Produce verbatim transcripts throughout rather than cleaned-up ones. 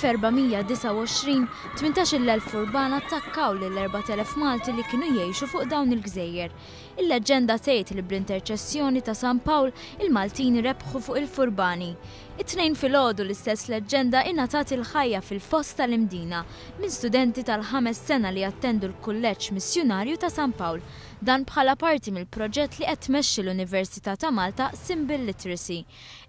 Fl-elf erba' mija disgħa u għoxrin, tmintax-il elf furbana attakkaw lil erbat elef Malti li kienu jgħixu fuq dawn il-gżejjer. Il-leġġenda tgħid li bl-interċessjoni ta' San Pawl il-Maltin rebħu fuq il-furbani. It-Tnejn filgħodu l-istess leġġenda ingħatat il-ħajja fil-foss tal-Imdina minn studenti tal-ħames sena li jattendu l-Kulleġġ Missjunarju ta' San Pawl. Dan bħala parti mill-proġett li qed tmexxi l-Università ta' Malta, Symbol Literacy.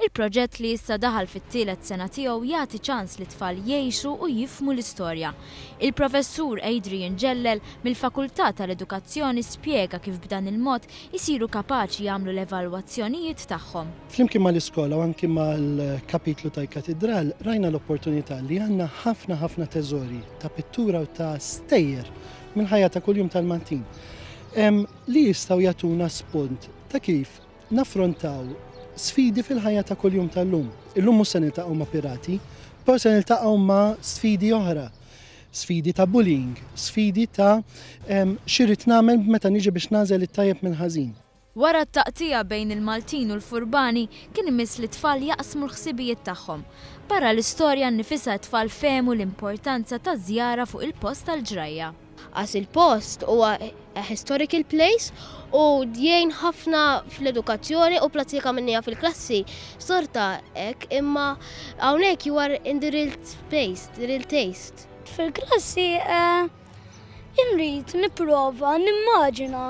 Il-proġett, li issa daħal fit-tielet sena tiegħu, jagħti ċans li tfal jgħixu u jifhmu l-istorja. Il-professur Adrian Ġellel mill-Fakultà tal-Edukazzjoni spjega kif b'dan il-mod isiru kapaċi jagħmlu l-evalwazzjonijiet tagħhom. Flimkien mal-iskola u anki mal-kapitlu tal-katedral rajna l-opportunità li għandna ħafna ħafna teżori ta' pittura u ta' stejjer minn ħajja ta' kuljum tal-Maltin li jistgħu jagħtuna spunt ta' kif naffrontaw sfidi fil-ħajja ta' kuljum tal-lum. Illum mhux se niltaqgħu ma' pirati, però se niltaqgħu ma' sfidi oħra. Sfidi ta' bullying, sfidi ta' x'irrid nagħmel meta niġi biex nagħżel it-tajjeb mill-ħażin. Wara t-taqtija bejn il-Maltin u l-Furbani, kien imiss li tfal jaqsmu l-ħsibijiet tagħhom. Barra l-istorja nnifisha, tfal fehmu l-importanza ta' żjara fuq il-post tal-ġrajja. Għax il-post huwa a historical place u jgħin ħafna fl-edukazzjoni u prattika minnija fil-klassi. Sorta hekk, imma hawnhekk you are in the real space, the real taste. Fil-klassi eh, inrid nipprova nimmaġina,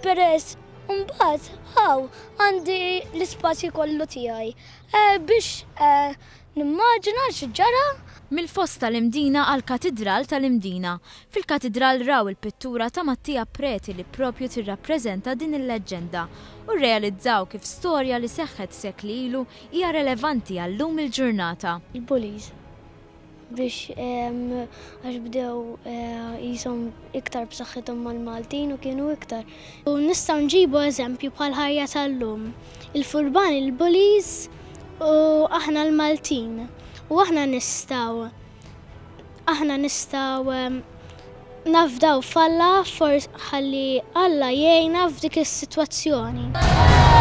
peress mbagħad hawn għandi l-ispazju kollu tiegħi eh, biex eh, nimmaġina x'ġara. Mill-foss tal-Imdina għal katidral tal-Imdina. Fil-katidral raw il-pittura ta' Mattia Preti li propju tirrappreżenta din il-leġġenda u realizzaw kif storja li seħħet sekli ilu hija relevanti għal-lum il-ġurnata. Il-bullies, biex għax bdew jisom iktar b'saħħithom mal-Maltin u kienu iktar. U nistgħu nġibu eżempju bħal ħajja tal-lum. Il-furbani, il-bullies, u aħna l-Maltin. U aħna nistgħu aħna nistgħu nafdaw f'Alla, forsi ħalli Alla jgħinna f'dik is-sitwazzjoni.